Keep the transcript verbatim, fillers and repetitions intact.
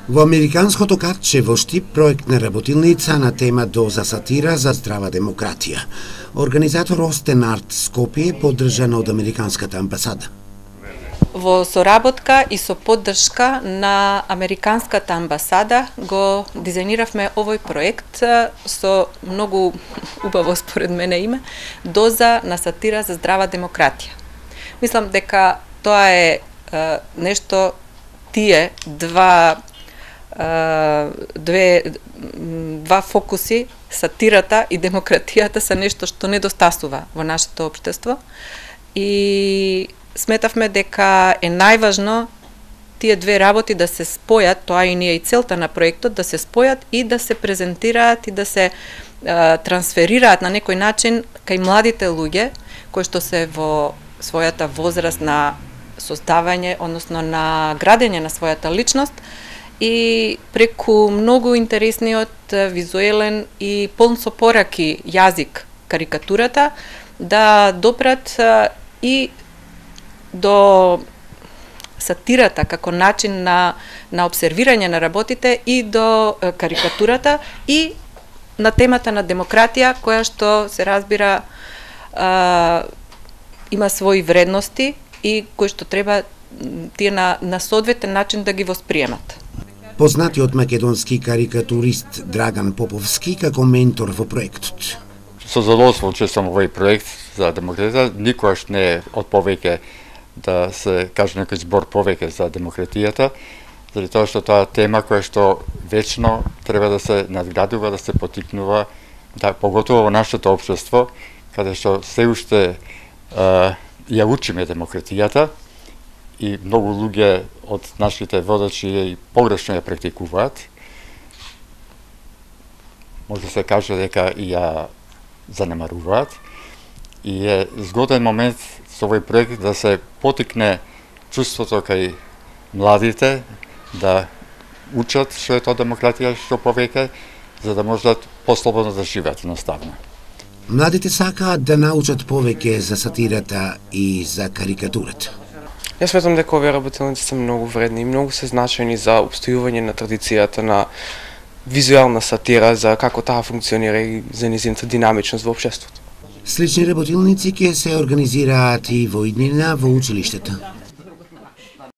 Во американското картче во Штип проектна работилница на тема Доза сатира за здрава демократија. Организатор Остен Арт Скопје поддржан од американската амбасада. Во соработка и со поддршка на американската амбасада го дизајниравме овој проект со многу убаво според мене име Доза на сатира за здрава демократија. Мислам дека тоа е, е нешто тие два две два фокуси, сатирата и демократијата, се нешто што недостасува во нашето општество и сметавме дека е најважно тие две работи да се спојат, тоа и ние и целта на проектот, да се спојат и да се презентираат и да се а, трансферираат на некој начин кај младите луѓе кои што се во својата возраст на создавање, односно на градење на својата личност, и преку многу интересниот, визуелен и полн со пораки јазик карикатурата да допрат и до сатирата како начин на, на обсервирање на работите и до карикатурата и на темата на демократија, која што се разбира а, има своји вредности и кои што треба тие на, на соодветен начин да ги восприемат. Познатиот македонски карикатурист Драган Поповски како ментор во проектот. Со задоволство учествувам во овој проект за демократија. Никогаш не е од повеќе да се каже некој збор повеќе за демократијата, заради тоа што тоа е тема која што вечно треба да се надградува, да се потикнува, да, поготово во нашето општество, каде што се уште а, ја учиме демократијата, и многу луѓе од нашите водачи и погрешно ја практикуваат. Може да се каже дека и ја занемаруваат. И е згоден момент со овој проект да се потикне чувството кај младите да учат што е тоа демократија, што повеќе, за да можат послободно да живеат едноставно. Младите сакаат да научат повеќе за сатирата и за карикатурата. Јас сметам дека овие работилници се многу вредни и многу се значајни за обстојување на традицијата на визуелна сатира, за како таа функционира и за нејзината динамичност во општеството. Слични работилници ќе се организираат и во иднина во училиштето.